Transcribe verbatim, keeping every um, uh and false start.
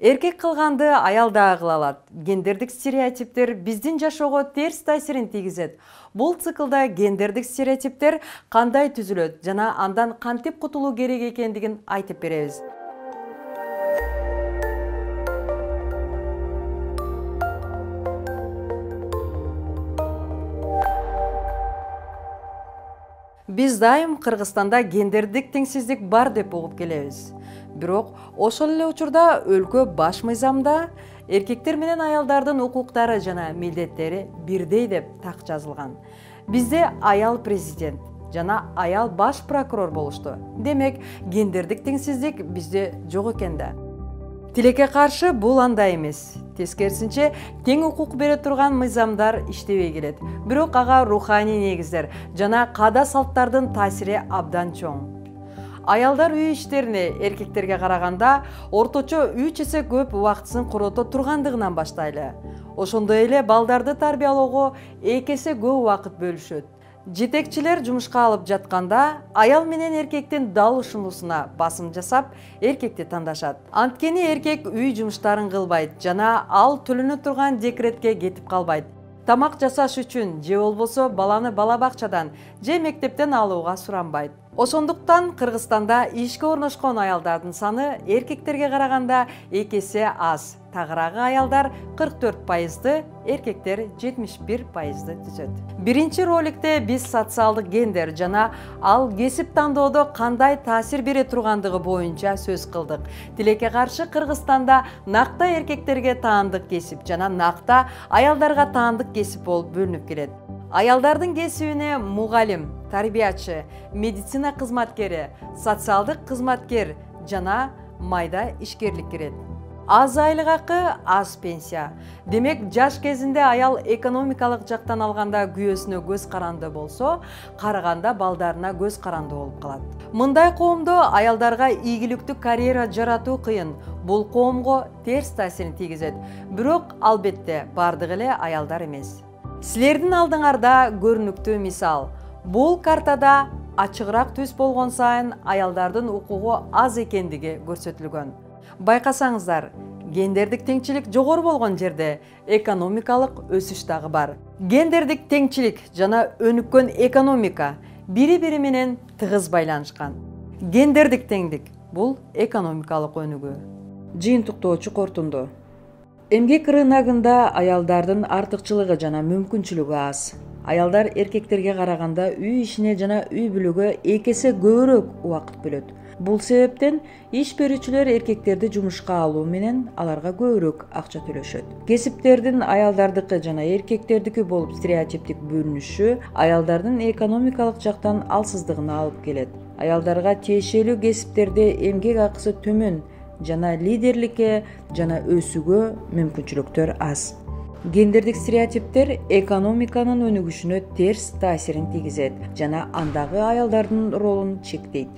Эркек кылганды аял дагы кыла алат. Гендердик стереотиптер биздин жашоого терс таасирин тийгизет. Бул циклда гендердик стереотиптер кандай түзүлөт жана андан кантип кутулуу керек экендигин айтып беребиз. Биз дайым Кыргызстанда гендердик теңсиздик бар деп угуп келебиз. Бирок ошол эле учурда өлкө баш мыйзамда эркектер менен аялдардын укуктары жана милдеттери бирдей деп так жазылган. Бизде аял президент жана аял баш прокурор болушту. Демек, гендердик теңсиздик бизде жок экен да. Тилекке каршы бул андай эмес. Тескерисинче, тең укук бере турган мыйзамдар иштебей келет. Бирок ага руханий негиздер жана каада салттардын таасири абдан чоң. Аялдар үй иштерине эркектерге караганда орточо үч эсе көп убактысын корото тургандыгынан баштайлы. Ошондой эле балдарды тарбиялоого эки эсе көп убакыт бөлүшөт. Жетекчилер жумушка алып жатканда аял менен эркектин дал ушунусуна басым жасап, эркекти тандашат. Анткени эркек үй жумуштарын кылбайт жана ал төлөнө турган декретке кетип калбайт. Тамак жасаш үчүн же болбосо баланы бала бакчадан же мектептен алууга суранбайт. Ошондуктан Кыргызстанда ишке орношкон аялдардын саны эркектерге караганда эки эсе аз. Тагыраагы аялдар кырк төрт пайызды, эркектер жетимиш бир пайызды түзөт. Биринчи роликте биз социалдык гендер жана ал кесип тандоодо кандай таасир бере тургандыгы боюнча сөз кылдык. Тилекке каршы Кыргызстанда накта эркектерге таандык кесип жана накта аялдарга таандык кесип болуп бөлүнүп келет. Аялдардын кесибине мугалим, тарбиячы, медицина кызматкери, социалдык кызматкер жана майда ишкерлик кирет. Аз айлык акы, аз пенсия. Демек, жаш кезинде аял экономикалык жактан алганда күйөөсүнө көз каранды болсо, караганда балдарына көз каранды болуп калат. Мындай коомдо аялдарга ийгиликтүү карьера жаратуу кыйын. Бул коомго терс таасирин тийгизет. Бирок албетте бардыгы эле аялдар эмес. Силердин алдыңарда көрүнүктүү мисал. Бул картада ачыгыраак түс болгон сайын аялдардын укугу аз экендиги көрсөтүлгөн. Байкасаңыздар, гендердик теңчилик жогору болгон жерде экономикалык өсүш дагы бар. Гендердик теңчилик жана өнүккөн экономика бири-бири менен тыгыз байланышкан. Гендердик теңдик бул экономикалык өнүгүү. Жыйынтыктоочу корутунду. Эмгек рыногунда аялдардын артыкчылыгы жана мүмкүнчүлүгү аз. Аялдар эркектерге караганда үй ишине жана үй бүлөгө эки эсе көбүрөөк убакыт бөлөт. Бул себептен иш берүүчүлөр эркектерди жумушка алуу менен аларга көбүрөөк акча төлөшөт. Кесиптердин аялдардыкы жана эркектердики болуп стереотиптик бөлүнүшү аялдардын экономикалык жактан алсыздыгына алып келет. Аялдарга тиешелүү кесиптерде эмгек акысы төмөн жана лидерликке жана өсүүгө мүмкүнчүлүктөр аз. Гендердик стереотиптер экономиканын өнүгүшүнө терс таасирин тийгизет жана андагы аялдардын ролун чектейт.